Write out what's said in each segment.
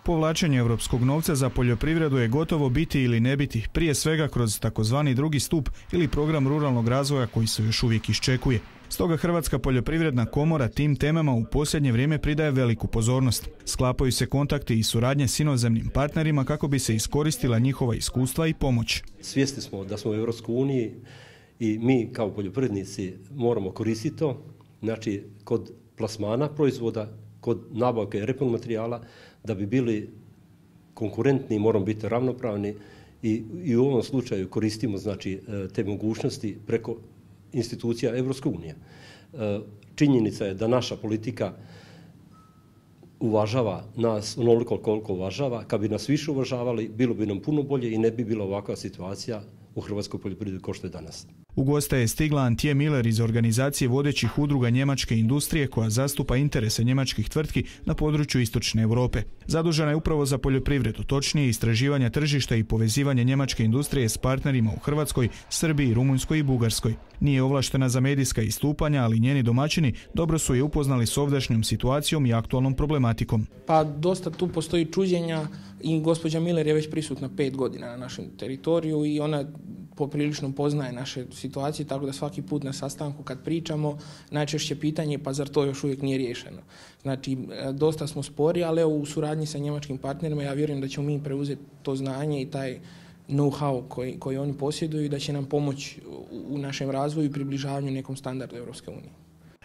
Povlačenje europskog novca za poljoprivredu je gotovo biti ili ne biti, prije svega kroz takozvani drugi stup ili program ruralnog razvoja koji se još uvijek iščekuje. Stoga Hrvatska poljoprivredna komora tim temama u posljednje vrijeme pridaje veliku pozornost. Sklapaju se kontakti i suradnje s inozemnim partnerima kako bi se iskoristila njihova iskustva i pomoć. Svjesni smo da smo u Europskoj uniji i mi kao poljoprivrednici moramo koristiti to, znači kod plasmana proizvoda, kod nabavke repromaterijala, da bi bili konkurentni moramo biti ravnopravni i u ovom slučaju koristimo znači te mogućnosti preko institucija Europske unije. Činjenica je da naša politika uvažava nas onoliko koliko uvažava. Kad bi nas više uvažavali, bilo bi nam puno bolje i ne bi bila ovakva situacija u hrvatskoj poljoprivredi kao što je danas. U goste je stigla Antje Miller iz organizacije vodećih udruga njemačke industrije koja zastupa interese njemačkih tvrtki na području istočne Europe. Zadužena je upravo za poljoprivredu, točnije istraživanja tržišta i povezivanje njemačke industrije s partnerima u Hrvatskoj, Srbiji, Rumunjskoj i Bugarskoj. Nije ovlaštena za medijska istupanja, ali njeni domaćini dobro su je upoznali s ovdašnjom situacijom i aktualnom problematikom. Pa dosta tu postoji čuđenja i gospođa Miller je već prisutna 5 godina na našem teritoriju i ona poprilično poznaje naše situacije, tako da svaki put na sastanku kad pričamo, najčešće pitanje pa zar to još uvijek nije riješeno. Znači, dosta smo spori, ali evo u suradnji sa njemačkim partnerima ja vjerujem da ćemo mi preuzeti to znanje i taj know-how koji oni posjeduju i da će nam pomoći u našem razvoju i približavanju nekom standardu Europske unije.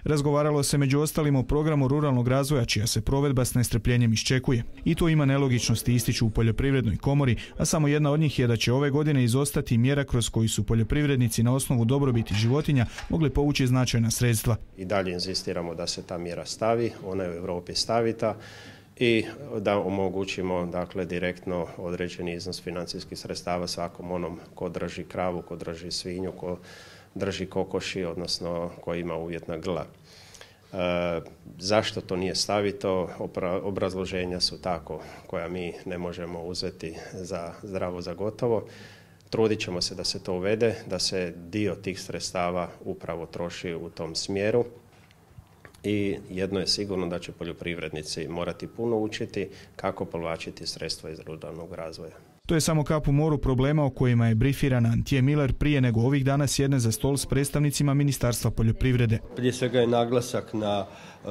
Razgovaralo se među ostalim o programu ruralnog razvoja čija se provedba s nestrpljenjem iščekuje. I to ima nelogičnosti, ističu u poljoprivrednoj komori, a samo jedna od njih je da će ove godine izostati mjera kroz koju su poljoprivrednici na osnovu dobrobiti životinja mogli povući značajna sredstva. I dalje inzistiramo da se ta mjera stavi, ona je u Europi stavita i da omogućimo dakle direktno određeni iznos financijskih sredstava svakom onom ko drži kravu, ko drži svinju, ko drži kokoši, odnosno koji ima uvjetna grla. Zašto to nije stavito? Obrazloženja su tako koja mi ne možemo uzeti za zdravo za gotovo. Trudit ćemo se da se to uvede, da se dio tih sredstava upravo troši u tom smjeru. I jedno je sigurno da će poljoprivrednici morati puno učiti kako povlačiti sredstva iz ruralnog razvoja. To je samo kap u moru problema o kojima je brifirana Antje Miller prije nego ovih dana sjedne za stol s predstavnicima Ministarstva poljoprivrede. Prije svega je naglasak na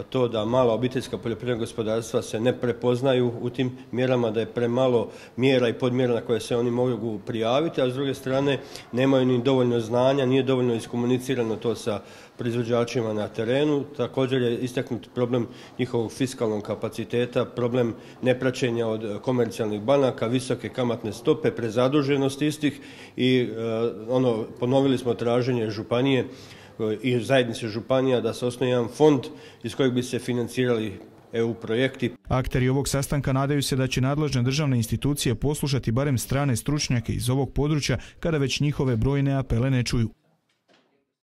to da mala obiteljska poljoprivredna gospodarstva se ne prepoznaju u tim mjerama, da je premalo mjera i podmjera na koje se oni mogu prijaviti, a s druge strane nemaju ni dovoljno znanja, nije dovoljno iskomunicirano to sa proizvođačima na terenu. Također je istaknut problem njihovog fiskalnog kapaciteta, problem nepraćenja od komercijalnih banaka, visoke kamatne stope, prezaduženost istih i ponovili smo traženje županije i zajednice županija da se osnuje jedan fond iz kojeg bi se financirali EU projekti. Akteri ovog sastanka nadaju se da će nadležne državne institucije poslušati barem strane stručnjake iz ovog područja kada već njihove brojne apele ne čuju.